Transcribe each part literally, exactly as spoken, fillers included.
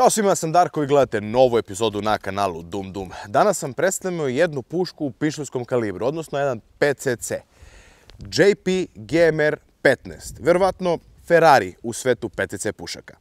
Ćao svima, ja sam Darko i gledate novu epizodu na kanalu Dum Dum. Danas sam predstavio jednu pušku u pištoljskom kalibru, odnosno jedan P C C. J P G M R petnaest, verovatno Ferrari u svetu P C C pušaka.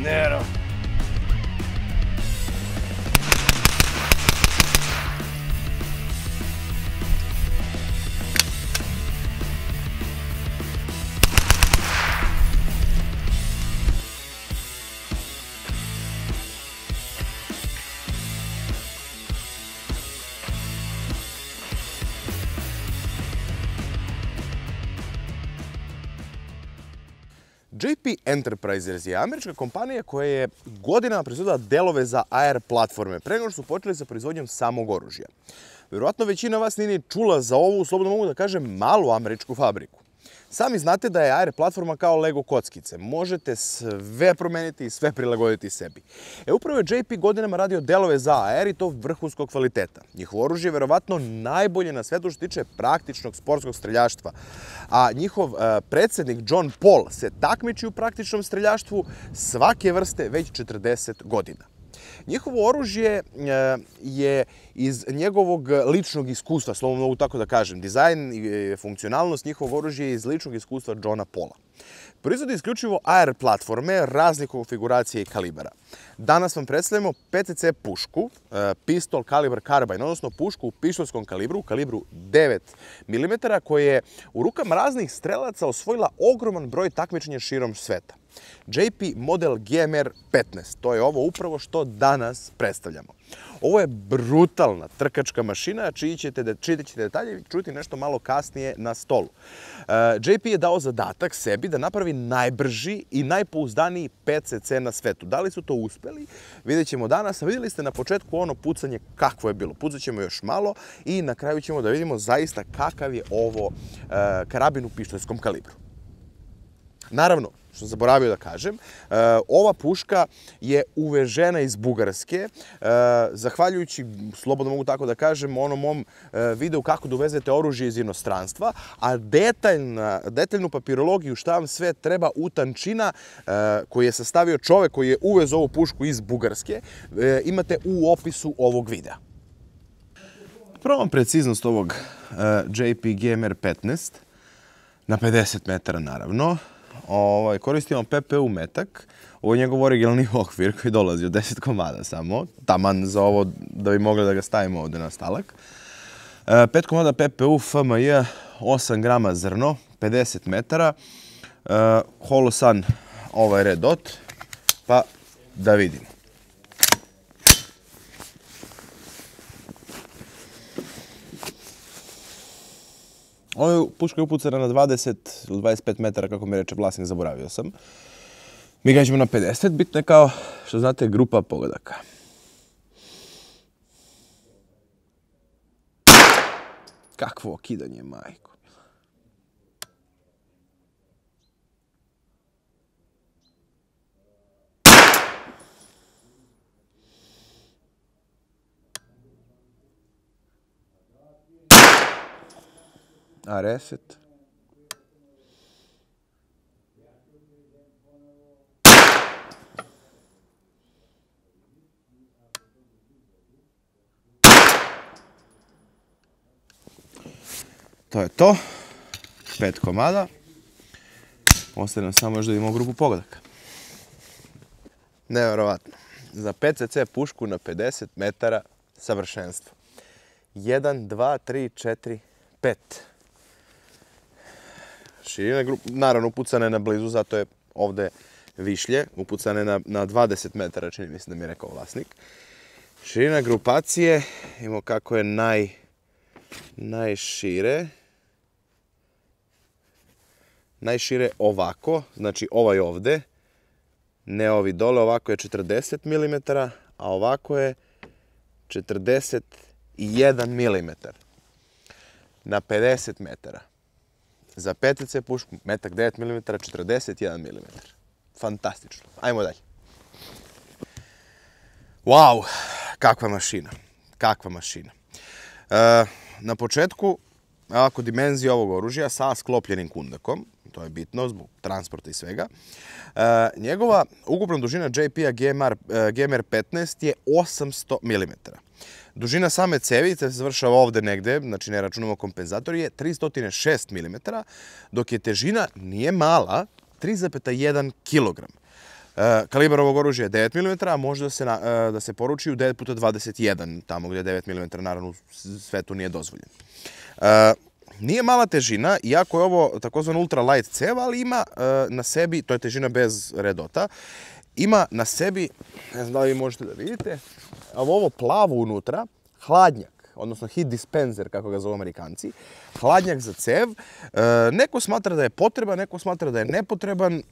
Nero. J P Enterprises je američka kompanija koja je godinama proizvodila delove za A R platforme, pre nego što su počeli sa proizvodnjom samog oružja. Verovatno većina vas nije ni čula za ovu, slobodno mogu da kažem, malu američku fabriku. Sami znate da je A R platforma kao Lego kockice. Možete sve promeniti i sve prilagoditi sebi. E, upravo je J P godinama radio delove za A R i to vrhunskog kvaliteta. Njihovo oružje je verovatno najbolje na svetu što se tiče praktičnog sportskog streljaštva. A njihov uh, predsednik John Paul se takmiči u praktičnom streljaštvu svake vrste već četrdeset godina. Njihovo oružje je iz njegovog ličnog iskustva, slobodno mogu tako da kažem. Dizajn i funkcionalnost njihovog oružja je iz ličnog iskustva Johna Paula. Proizvodi isključivo A R platforme raznih konfiguracija i kalibara. Danas vam predstavljamo P C C pušku, pistol kalibar carbine, odnosno pušku u pištoljskom kalibru, u kalibru devet milimetara, koja je u rukama raznih strelaca osvojila ogroman broj takmičenja širom sveta. J P model G M R petnaest, to je ovo upravo što danas predstavljamo. Ovo je brutalna trkačka mašina, čiji ćete, čiji ćete detalje čuti nešto malo kasnije na stolu. J P je dao zadatak sebi da napravi najbrži i najpouzdaniji P C C na svetu. Da li su to uspeli? Vidjet ćemo danas. Vidjeli ste na početku ono pucanje kakvo je bilo. Pucat ćemo još malo i na kraju ćemo da vidimo zaista kakav je ovo karabin u pištoljskom kalibru. Naravno, što sam zaboravio da kažem, ova puška je uvežena iz Bugarske, zahvaljujući, slobodno mogu tako da kažem, onom mom videu kako da uvezete oružje iz inostranstva, a detaljnu papirologiju šta vam sve treba utančina koji je sastavio čovek koji je uvez ovu pušku iz Bugarske, imate u opisu ovog videa. Probam preciznost ovog J P G M R petnaest na pedeset metara naravno. koristimo P P U metak. Ovo je njegov originalni okvir koji dolazi od deset komada samo. Taman za ovo da bi mogli da ga stavimo ovde na stalak. pet komada P P U F M J, osam grama zrno, pedeset metara. Holosan ovaj Red Dot. Pa da vidimo. Ovo puška je upucana na dvadeset ili dvadeset pet metara, kako mi reče vlasnik, zaboravio sam. Mi gađamo na pedeset, bitno je kao što znate grupa pogodaka. Kakvo okidanje, majko. A reset. To je to. Pet komada. Ostaje nam samo još da vidimo grupu pogodaka. Neverovatno. Za P C C pušku na pedeset metara savršenstvo. jedan, dva, tri, četiri, pet. Širina grupa, naravno upucane na blizu, zato je ovde višlje. Upucane na, na dvadeset metara, čini mislim da mi je rekao vlasnik. Širina grupacije, imamo kako je naj, najšire. Najšire ovako, znači ovaj ovde, ne ovi dole, ovako je četrdeset milimetara, a ovako je četrdeset jedan milimetar na pedeset metara. Za P C C pušku, metak devet milimetara, četrdeset jedan milimetar. Fantastično. Ajmo dalje. Wow, kakva mašina. Kakva mašina. E, na početku, ovako, dimenzija ovog oružja sa sklopljenim kundakom, to je bitno zbog transporta i svega. E, njegova ukupna dužina J P-a G M R petnaest je osamsto milimetara. Dužina same cevice se završava ovde negde, znači ne računamo kompenzator, je tristo šest milimetara, dok je težina, nije mala, tri zarez jedan kilogram. E, kalibar ovog oružja je devet milimetara, a može da se, na, e, da se poruči u devet puta dvadeset jedan, tamo gdje je devet milimetara, naravno u svetu nije dozvoljeno. E, Nije mala težina, iako je ovo takozvan ultra light cev, ali ima e, na sebi, to je težina bez Red Dota, ima na sebi, ne znam da li vi možete da vidite, ovo plavo unutra, hladnjak, odnosno heat dispenser, kako ga zovu Amerikanci, hladnjak za cev. E, neko smatra da je potreban, neko smatra da je nepotreban.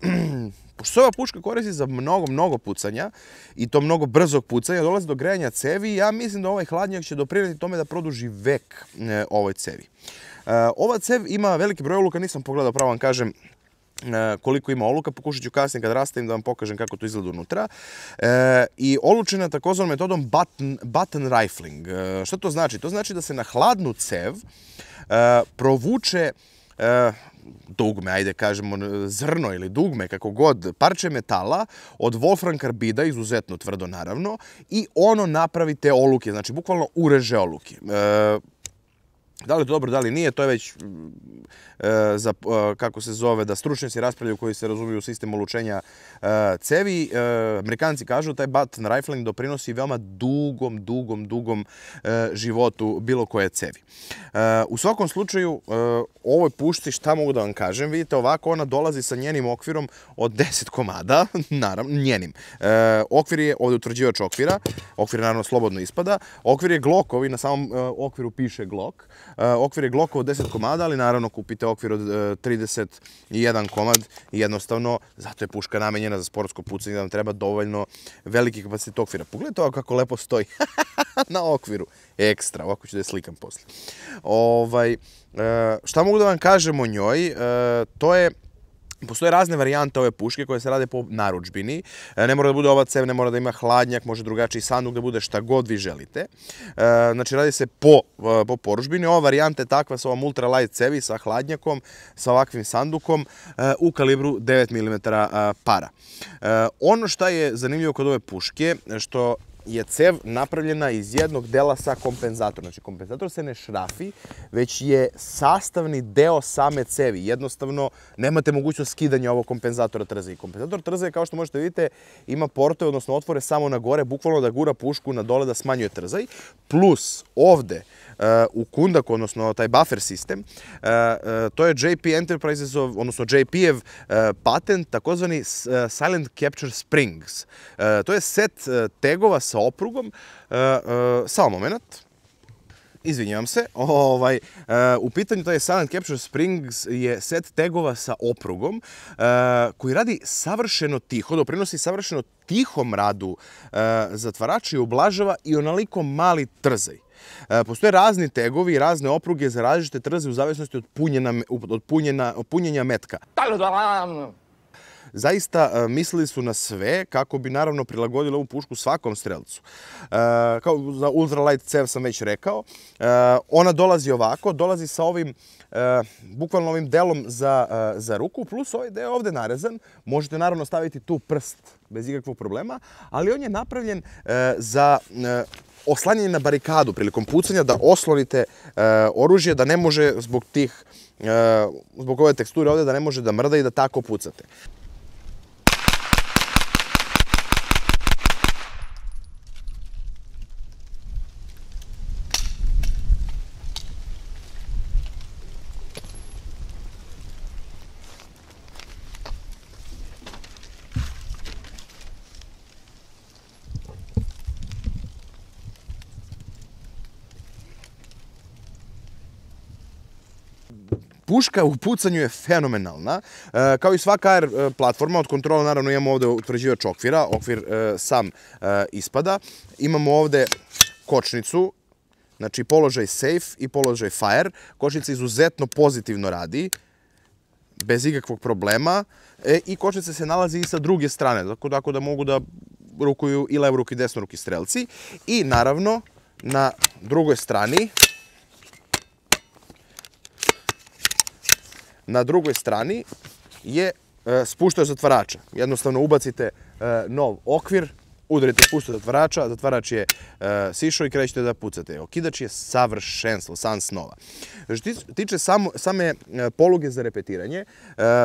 Pošto se ova puška koristi za mnogo, mnogo pucanja i to mnogo brzog pucanja, dolazi do grejanja cevi, ja mislim da ovaj hladnjak će doprineti tome da produži vek e, ovoj cevi. E, ova cev ima veliki broj oluka, nisam pogledao, pravo vam kažem koliko ima oluka, pokušat ću kasnije kad rastavim da vam pokažem kako to izgleda unutra. E, I olučena takozvanom metodom button, button rifling. E, što to znači? To znači da se na hladnu cev e, provuče e, dugme, ajde kažemo zrno ili dugme, kako god, parče metala od wolfram karbida, izuzetno tvrdo naravno, i ono napravi te oluke, znači bukvalno ureže oluke. E, Da li je to dobro, da li nije, to je već e, za, e, kako se zove, da stručnjaci raspravljaju koji se razumiju u sistem olučenja e, cevi. E, Amerikanci kažu da taj button rifling doprinosi veoma dugom, dugom, dugom e, životu bilo koje cevi. E, u svakom slučaju, e, ovoj pušci, šta mogu da vam kažem, vidite ovako, ona dolazi sa njenim okvirom od deset komada, naravno, njenim. E, okvir je ovdje utvrđivač okvira, okvir naravno slobodno ispada, okvir je Glockovi, na samom e, okviru piše Glock. Uh, okvir je Glockov od deset komada, ali naravno kupite okvir od uh, trideset jedan komad i jednostavno zato je puška namenjena za sportsko pucanje, da vam treba dovoljno veliki kapacitet okvira. Pogledajte ovo kako lepo stoji na okviru. Ekstra, ovako ću da je slikam posle. Ovaj, uh, šta mogu da vam kažem o njoj? Uh, to je Postoje razne varijante ove puške koje se rade po narudžbini. Ne mora da bude ova cev, ne mora da ima hladnjak, može drugačiji sanduk da bude šta god vi želite. Znači radi se po, po poručbini. Ova varijanta je takva sa ovom ultra light cevi, sa hladnjakom, sa ovakvim sandukom u kalibru devet milimetara para. Ono što je zanimljivo kod ove puške, što je cev napravljena iz jednog dela sa kompenzatorom. Znači, kompenzator se ne šrafi, već je sastavni deo same cevi. Jednostavno, nemate mogućnost skidanja ovog kompenzatora trze. I kompenzator trze, kao što možete vidite, ima portove, odnosno otvore samo na gore, bukvalno da gura pušku na dole da smanjuje trzaj. Plus, ovde, u kundaku, odnosno taj buffer sistem, to je J P Enterprisesov, odnosno J P-ev patent, takozvani Silent Capture Springs. To je set tegova sa oprugom. Samo moment. Izvinjavam se. U pitanju taj Silent Capture Springs je set tegova sa oprugom koji radi savršeno tiho, doprinosi savršeno tihom radu zatvarača i ublažava i onoliko mali trzaj. Postoje razni tegovi i razne opruge za različite trze u zavisnosti od punjenja metka. Zaista mislili su na sve kako bi naravno prilagodili ovu pušku svakom strelcu. Kao za ultralight cev sam već rekao. Ona dolazi ovako, dolazi sa ovim, bukvalno ovim delom za ruku, plus ovaj deo ovde narezan. Možete naravno staviti tu prst bez ikakvog problema, ali on je napravljen za oslanjanje na barikadu prilikom pucanja, da oslonite oružje, da ne može zbog tih, zbog ove teksture ovde, da ne može da mrda i da tako pucate. Puška u pucanju je fenomenalna. Kao i svaka A R platforma, od kontrola naravno imamo ovde utvrđivač okvira, okvir sam ispada. Imamo ovde kočnicu, znači položaj safe i položaj fire. Kočnica izuzetno pozitivno radi, bez ikakvog problema. I kočnica se nalazi i sa druge strane, tako da mogu da rukuju i levoruki i desnoruki strelci. I naravno, na drugoj strani, Na drugoj strani je spuštač zatvarača. Jednostavno ubacite nov okvir, udarite spuštač zatvarača, zatvarač je sišao i krećete da pucate. Okidač je savršenstvo, san snova. Što se tiče same poluge za repetiranje,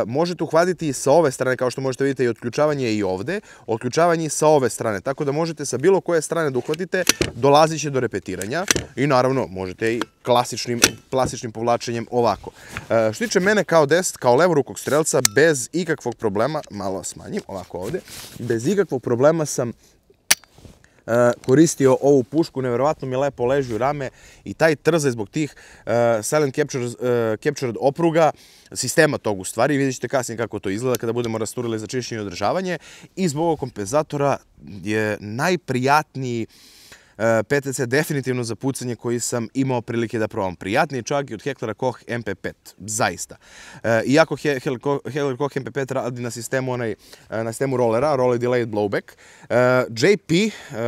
možete uhvatiti i sa ove strane, kao što možete vidjeti i otključavanje i ovde, otključavanje i sa ove strane, tako da možete sa bilo koje strane da uhvatite, dolazit će do repetiranja i naravno možete i klasičnim povlačenjem ovako. Što se tiče mene kao deset, kao levorukog strelca, bez ikakvog problema, malo smanjim, ovako ovde, bez ikakvog problema sam koristio ovu pušku, neverovatno mi lepo leži u rame i taj trzaj zbog tih Silent Captured opruga, sistema tog u stvari, vidjet ćete kasnije kako to izgleda kada budemo rasturili za čišćenje i održavanje, i zbog ovog kompenzatora je najprijatniji P T C definitivno za pucanje koji sam imao prilike da probam. Prijatniji čak i od Hektora Koch M P pet, zaista. Iako Heckler Koch M P pet radi na sistemu na sistemu rollera, Roller Delayed Blowback, J P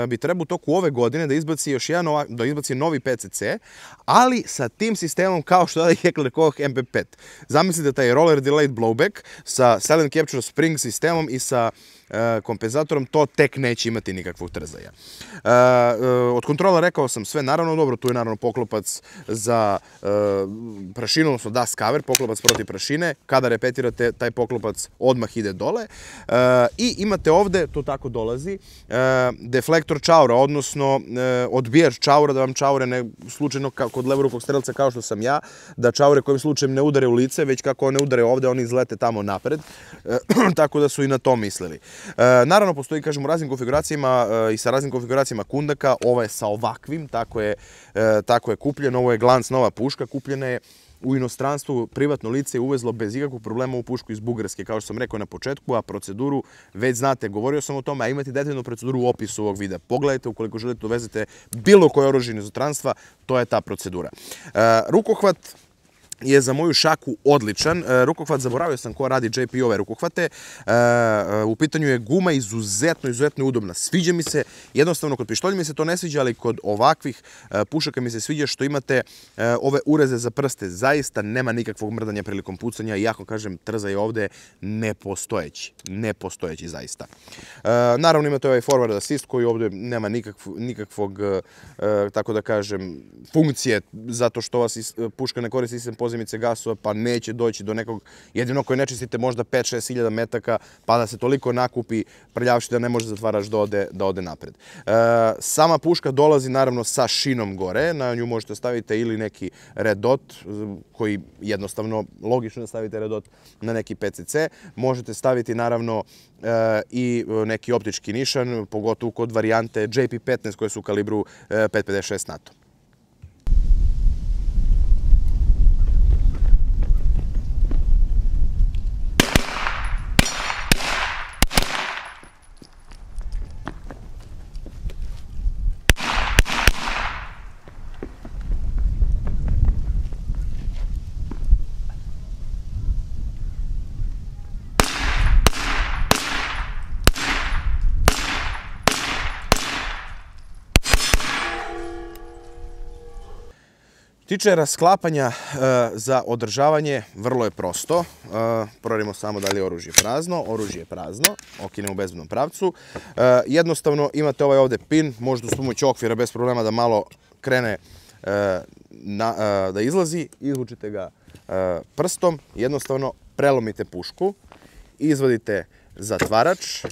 bi trebao u toku ove godine da izbaci još jedan, da izbaci novi P C C, ali sa tim sistemom kao što je Heckler Koch M P pet. Zamislite taj Roller Delayed Blowback sa Silent Capture Spring sistemom i sa kompenzatorom, to tek neće imati nikakvog trzaja. Od kontrola rekao sam sve, naravno dobro, tu je naravno poklopac za prašinu, odnosno dust cover, poklopac protiv prašine. Kada repetirate, taj poklopac odmah ide dole. I imate ovde, to tako dolazi, deflektor čaura, odnosno odbijač čaura, da vam čaure ne slučajno kod levorukog strelca kao što sam ja, da čaure kojim slučajem ne udare u lice, već kako one udare ovde, oni izlete tamo napred. Tako da su i na to mislili. Naravno, postoji, kažem, u raznim konfiguracijama i sa raznim konfiguracijama kundaka. Ovo je sa ovakvim, tako je kupljeno. Ovo je Glance nova puška, kupljena je u inostranstvu, privatno lice je uvezlo bez ikakvog problema u pušku iz Bugarske, kao što sam rekao na početku, a proceduru već znate, govorio sam o tome, a imate detaljnu proceduru u opisu ovog videa. Pogledajte, ukoliko želite da uvezete bilo koje oružje iz inostranstva, to je ta procedura. Rukohvat je za moju šaku odličan. Rukohvat, zaboravio sam ko radi J P ove rukohvate. U pitanju je guma izuzetno, izuzetno udobna. Sviđa mi se, jednostavno kod pištolja mi se to ne sviđa, ali kod ovakvih pušaka mi se sviđa što imate ove ureze za prste. Zaista nema nikakvog mrdanja prilikom pucanja. Iako, kažem, trza je ovde nepostojeći. Nepostojeći, zaista. Naravno, imate ovaj forward assist koji ovde nema nikakvog, tako da kažem, funkcije, zato što ova puška ne koristi sistem pozemice gasova, pa neće doći do nekog, jedino koje ne čistite možda pet do šest hiljada metaka, pa da se toliko nakupi prljavši da ne može zatvarač da ode napred. Sama puška dolazi naravno sa šinom gore, na nju možete staviti ili neki red dot, koji jednostavno, logično da stavite red dot na neki P C C, možete staviti naravno i neki optički nišan, pogotovo kod varijante J P petnaest koje su u kalibru pet pedeset šest NATO. Tiče rasklapanja za održavanje, vrlo je prosto. Proverimo samo da li je oružje prazno. Oružje je prazno, okinemo u bezbednom pravcu. Jednostavno imate ovaj ovde pin, možete s pomoću okvira bez problema da malo krene da izlazi. Izvučite ga prstom, jednostavno prelomite pušku, izvadite zatvarač.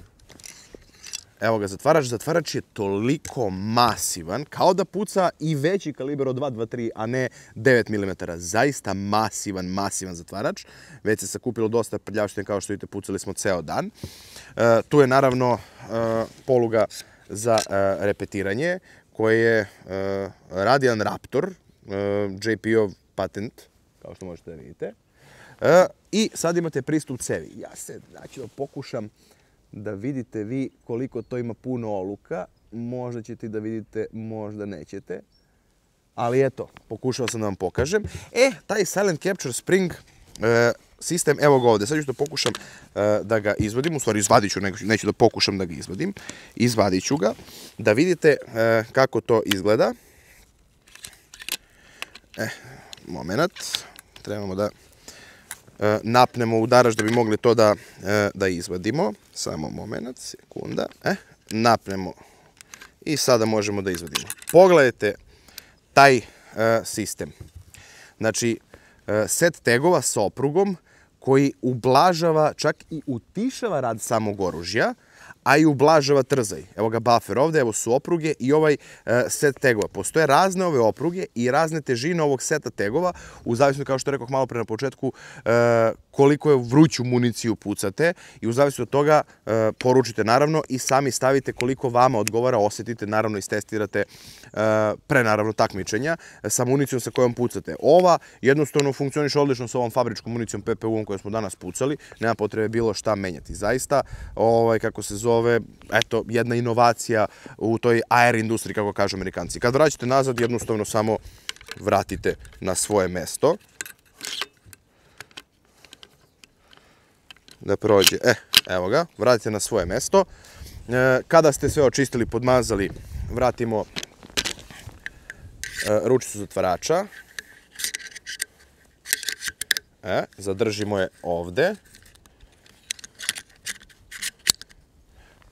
Evo ga zatvarač. Zatvarač je toliko masivan, kao da puca i veći kaliber od dva dvadeset tri, a ne devet milimetara. Zaista masivan, masivan zatvarač. Već se sakupilo dosta prljavštine, kao što vidite, pucali smo ceo dan. Tu je naravno poluga za repetiranje, koje je Radian Raptor, J P ov patent, kao što možete da vidite. I sad imate pristup cevi. Ja se, znači, da pokušam da vidite vi koliko to ima puno oluka. Možda ćete da vidite, možda nećete. Ali eto, pokušao sam da vam pokažem. E, taj Silent Capture Spring sistem, evo ga ovde. Sad ću da pokušam da ga izvadim. U stvari, izvadit ću, neću da pokušam da ga izvadim. Izvadit ću ga, da vidite kako to izgleda. E, moment. Trebamo da napnemo udarač da bi mogli to da izvadimo. Samo moment, sekunda. Napnemo i sada možemo da izvadimo. Pogledajte taj sistem. Znači, set tegova sa oprugom koji ublažava, čak i utišava rad samog oružja, a i ublažava trzaj. Evo ga buffer ovde, evo su opruge i ovaj set tegova. Postoje razne ove opruge i razne težine ovog seta tegova, u zavisnosti, kao što rekoh malo pre na početku, koliko je vruću municiju pucate i u zavisnosti od toga poručite naravno i sami stavite koliko vama odgovara, osetite, naravno istestirate pre naravno takmičenja sa municijom sa kojom pucate. Ova jednostavno funkcioniše odlično sa ovom fabričkom municijom P P U-om koju smo danas pucali, nema potrebe bilo šta menjati. Zaista, kako se zove, eto, jedna inovacija u toj A R industriji, kako kažu Amerikanci. Kad vraćate nazad, jednostavno samo vratite na svoje mesto. Da prođe. E, evo ga, vratite na svoje mesto. Kada ste sve očistili, podmazali, vratimo ručicu zatvarača. E, zadržimo je ovde.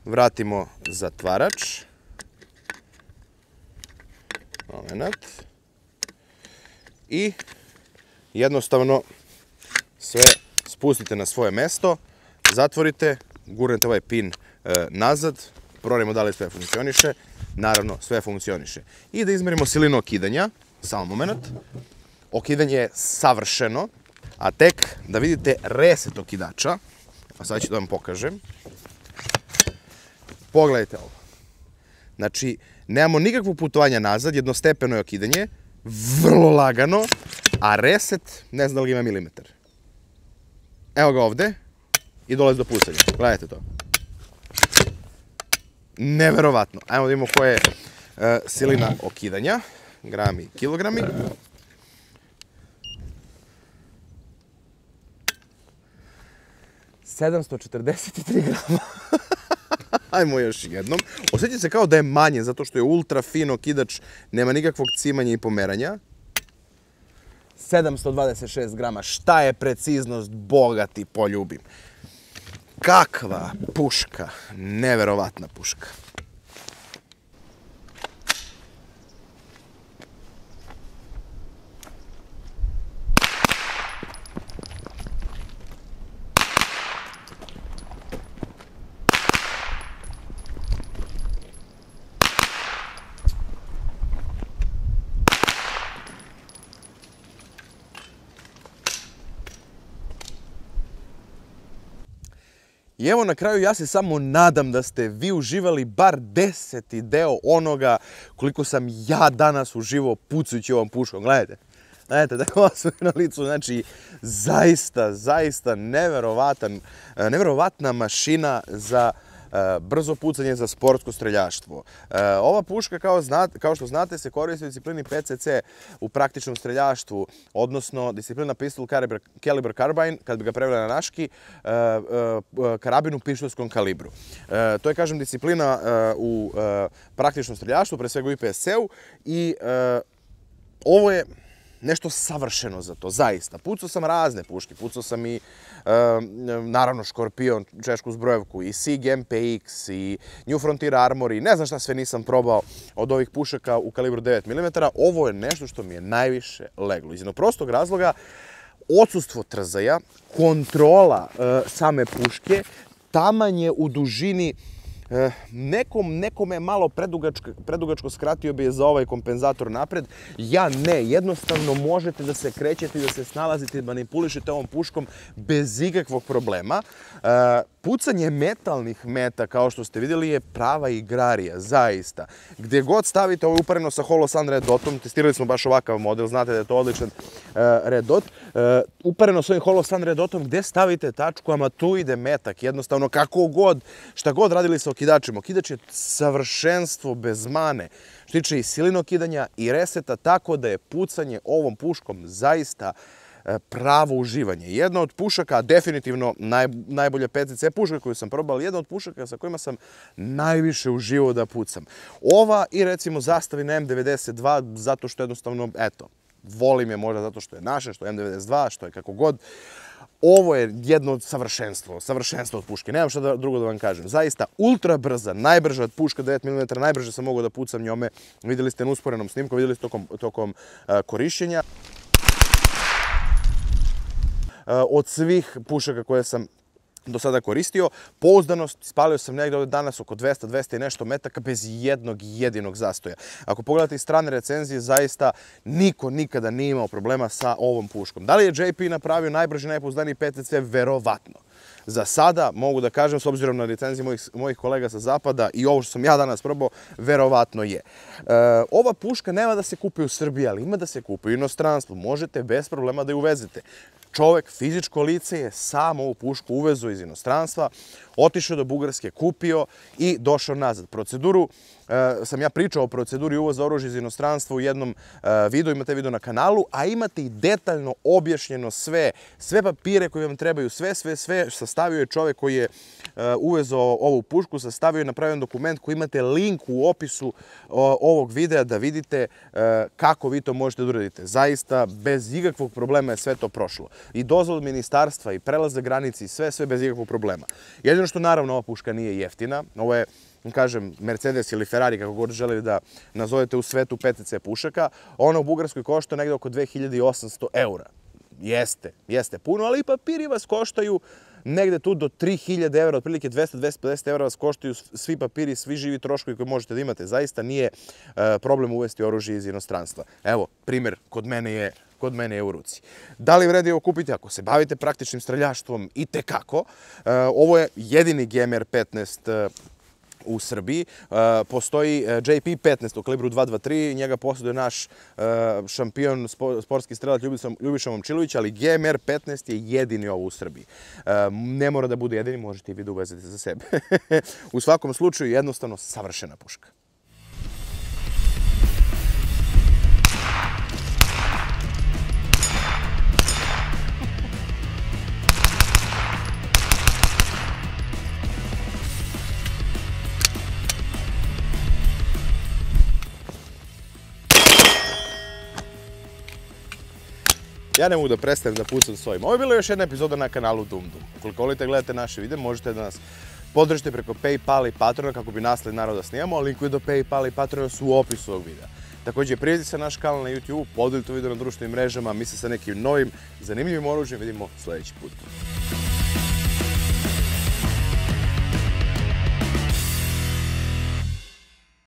Vratimo zatvarač. Moment. I jednostavno sve spustite na svoje mesto, zatvorite, gurnete ovaj pin nazad, proverimo da li sve funkcioniše. Naravno, sve funkcioniše. I da izmerimo silinu okidanja. Samo moment. Okidanje je savršeno, a tek da vidite reset okidača. A sad ću da vam pokažem. Pogledajte ovo. Znači, nemamo nikakvog putovanja nazad, jednostepeno je okidanje, vrlo lagano, a reset, ne znam da li ima milimetar. Evo ga ovde i dolazi do pucanja. Gledajte to. Neverovatno. Ajmo da imamo koja je silina okidanja. Grami, kilogrami. sedamsto četrdeset tri grama. Ajmo još jednom. Osjeća se kao da je manje, zato što je ultra fino kidač, nema nikakvog cimanja i pomeranja. sedamsto dvadeset šest grama. Šta je preciznost, Boga ti poljubim. Kakva puška, neverovatna puška. I evo na kraju ja se samo nadam da ste vi uživali bar deseti deo onoga koliko sam ja danas uživao pucajući ovom puškom. Gledajte, gledajte da je osvoj na licu, znači zaista, zaista neverovatan, neverovatna mašina za brzo pucanje, za sportsko streljaštvo. Ova puška, kao, znate, kao što znate, se koristi u disciplini P C C u praktičnom streljaštvu, odnosno disciplina Pistol Caliber, Caliber Carbine, kad bi ga preveli na naški, karabin u pištoljskom kalibru. To je, kažem, disciplina u praktičnom streljaštvu, pre svega u I P S C-u, i ovo je nešto savršeno za to, zaista. Pucao sam razne puške, pucao sam i, naravno, Škorpion, češku zbrojevku, i Sig M P X, i New Frontier Armor, i ne znam šta sve nisam probao od ovih pušaka u kalibru devet milimetara. Ovo je nešto što mi je najviše leglo. Iz jednog prostog razloga, odsustvo trzaja, kontrola same puške, tamanje u dužini. Nekom, nekome je malo predugačko, predugačko, skratio bi je za ovaj kompenzator napred. Ja ne, jednostavno možete da se krećete i da se snalazite i manipulišete ovom puškom bez ikakvog problema. Pucanje metalnih meta, kao što ste vidjeli, je prava igrarija, zaista. Gdje god stavite, ovo je upareno sa Holosun Red Dotom, testirali smo baš ovakav model, znate da je to odličan Red Dot. Upareno s ovim Holosun Red Dotom, gdje stavite tačku, ama tu ide metak, jednostavno kako god, šta god radili sa okidačima. Okidač je savršenstvo bez mane, što tiče i silinog kidanja i reseta, tako da je pucanje ovom puškom zaista pravo uživanje. Jedna od pušaka, definitivno naj, najbolja P C C puška koju sam probao, jedna od pušaka sa kojima sam najviše uživao da pucam. Ova i recimo Zastavina M devedeset dva, zato što jednostavno, eto, volim je možda zato što je naše, što je M devedeset dva, što je kako god. Ovo je jedno od savršenstva, savršenstvo od puške. Nemam šta drugo da vam kažem. Zaista ultra brza, najbrža od puška devet milimetara, najbrže sam mogao da pucam njome. Vidjeli ste na usporenom snimku, vidjeli ste tokom, tokom uh, korišćenja. Od svih pušaka koje sam do sada koristio, pouzdanost, spalio sam negdje ovdje danas oko dvesta, dvesta i nešto metaka bez jednog jedinog zastoja. Ako pogledate iz strane recenzije, zaista niko nikada nije imao problema sa ovom puškom. Da li je J P napravio najbrži, najpouzdaniji P C C? Verovatno. Za sada mogu da kažem, s obzirom na recenzije mojih, mojih kolega sa zapada i ovo što sam ja danas probao, verovatno je. E, ova puška nema da se kupi u Srbiji, ali ima da se kupi u inostranstvu. Možete bez problema da je uvezete. Čovek, fizičko lice, je sam ovu pušku uvezao iz inostranstva, otišao do Bugarske, kupio i došao nazad. Proceduru, e, sam ja pričao o proceduri uvoza oružja iz inostranstva u jednom e, videu, imate video na kanalu, a imate i detaljno objašnjeno sve, sve papire koje vam trebaju, sve, sve, sve, sastavio je čovek koji je e, uvezao ovu pušku, sastavio je napravljen dokument koji imate link u opisu o, ovog videa da vidite e, kako vi to možete da uradite. Zaista, bez ikakvog problema je sve to prošlo. I dozvol ministarstva, i prelaze granici, sve, sve bez ikakvog problema. Jedino što naravno ova puška nije jeftina, ovo je, kažem, Mercedes ili Ferrari, kako god želeli da nazovete u svetu P C C pušaka, ona u Bugarskoj košta negdje oko dve hiljade osamsto eura. Jeste, jeste puno, ali i papiri vas koštaju negde tu do tri hiljade eura, otprilike dvesta do dvesta pedeset eura vas koštaju svi papiri, svi živi troškovi koje možete da imate. Zaista nije problem uvesti oružje iz inostranstva. Evo, primjer, kod mene je kod mene je u ruci. Da li vredi ovo kupiti? Ako se bavite praktičnim streljaštvom, i tekako. Ovo je jedini G M R petnaest u Srbiji. Postoji J P petnaest u kalibru dva dvadeset tri, njega posjeduje naš šampion, sportski strelac Ljubiša Momčilović, ali G M R petnaest je jedini ovo u Srbiji. Ne mora da bude jedini, možete i vi da uvezete za sebe. U svakom slučaju, jednostavno savršena puška. Ja ne mogu da prestanem da pucam s ovim. Ovo je bila još jedna epizoda na kanalu Dum Dum. Ukoliko volite gledate naše videe, možete da nas podržite preko PayPal i Patreona kako bi nasled naroda snimamo, a linkovi do PayPal i Patreona su u opisu ovog videa. Također, prijavite se na naš kanal na YouTube, podelite video na društvenim mrežama, mi se sa nekim novim, zanimljivim oružjem vidimo sljedeći put.